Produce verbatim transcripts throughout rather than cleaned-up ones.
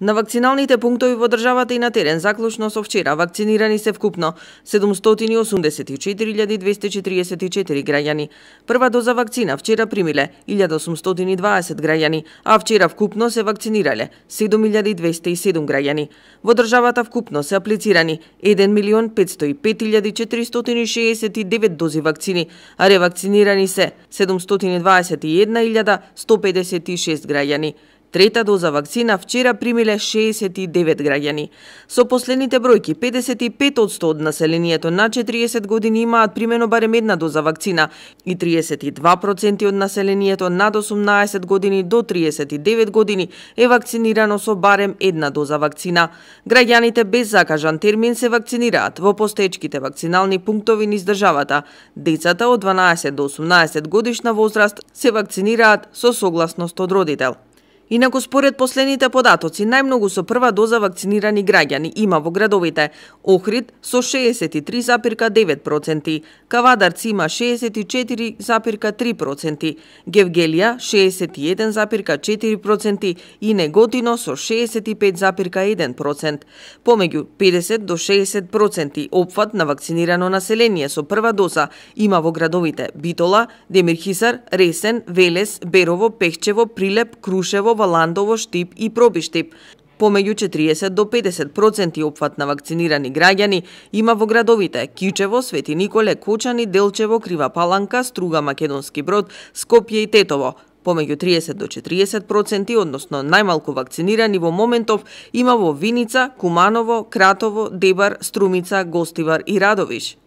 На вакциналните пунктови во државата и на терен заклучно со вчера вакцинирани се вкупно седумстотини и осумдесет и четири илјади двесте четиридесет и четири граѓани. Прва доза вакцина вчера примиле илјада осумстотини и дваесет граѓани, а вчера вкупно се вакцинирале седум илјади двесте и седум граѓани. Во државата вкупно се аплицирани еден милион петстотини и пет илјади четиристотини и шеесет и девет дози вакцини, а ревакцинирани се седумстотини и дваесет и една илјада сто педесет и шест граѓани. Трета доза вакцина вчера примиле шеесет и девет граѓани. Со последните бројки, педесет и пет одсто од населението на четириесет години имаат примено барем една доза вакцина и триесет и два проценти од населението над осумнаесет години до триесет и девет години е вакцинирано со барем една доза вакцина. Граѓаните без закажан термин се вакцинираат во постоечките вакцинални пунктови низ државата. Децата од дванаесет до осумнаесет годишна возраст се вакцинираат со согласност од родител. Инаку според последните податоци, најмногу со прва доза вакцинирани граѓани има во градовите Охрид со шеесет и три запирка девет проценти, Кавадарци има шеесет и четири запирка три проценти, Гевгелија шеесет и еден запирка четири проценти и Неготино со шеесет и пет запирка еден процент. Помеѓу педесет до шеесет проценти опфат на вакцинирано население со прва доза има во градовите Битола, Демирхисар, Ресен, Велес, Берово, Пехчево, Прилеп, Крушево, Валандово, Штип и Пробиштип. Помеѓу четириесет до педесет проценти опфат на вакцинирани граѓани има во градовите Кичево, Свети Николе, Кочани, Делчево, Крива Паланка, Струга, Македонски Брод, Скопје и Тетово. Помеѓу триесет до четириесет проценти, односно најмалку вакцинирани во моментов има во Виница, Куманово, Кратово, Дебар, Струмица, Гостивар и Радовиш.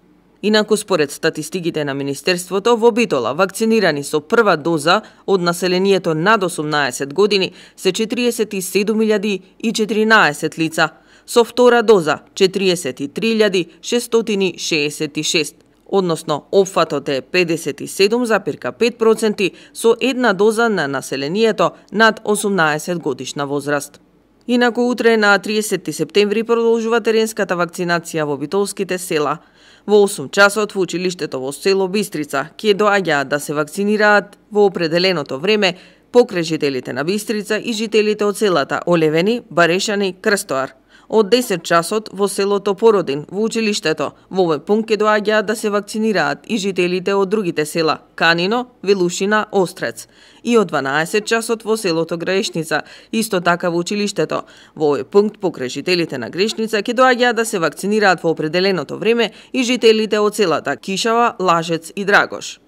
Инаку според статистиките на Министерството, во Битола вакцинирани со прва доза од населението над осумнаесет години се четириесет и седум илјади и четиринаесет лица, со втора доза четириесет и три илјади шестстотини шеесет и шест, односно опфатот е педесет и седум запирка пет проценти со една доза на населението над осумнаесет годишна возраст. Инаку утре на триесети септември продолжува теренската вакцинација во битолските села. Во осум часот во училиштето во село Бистрица ќе доаѓаат да се вакцинираат во определеното време покрај жителите на Бистрица и жителите од селата Олевени, Барешани, Крстоар. Од десет часот во селото Породин во училиштето во овој пункт ќе доаѓаат да се вакцинираат и жителите од другите села Канино, Велушина, Острец. И од дванаесет часот во селото Грешница, исто така во училиштето. Во овој пункт покрај жителите на Грешница ќе доаѓаат да се вакцинираат во определеното време и жителите од селата Кишава, Лажец и Драгош.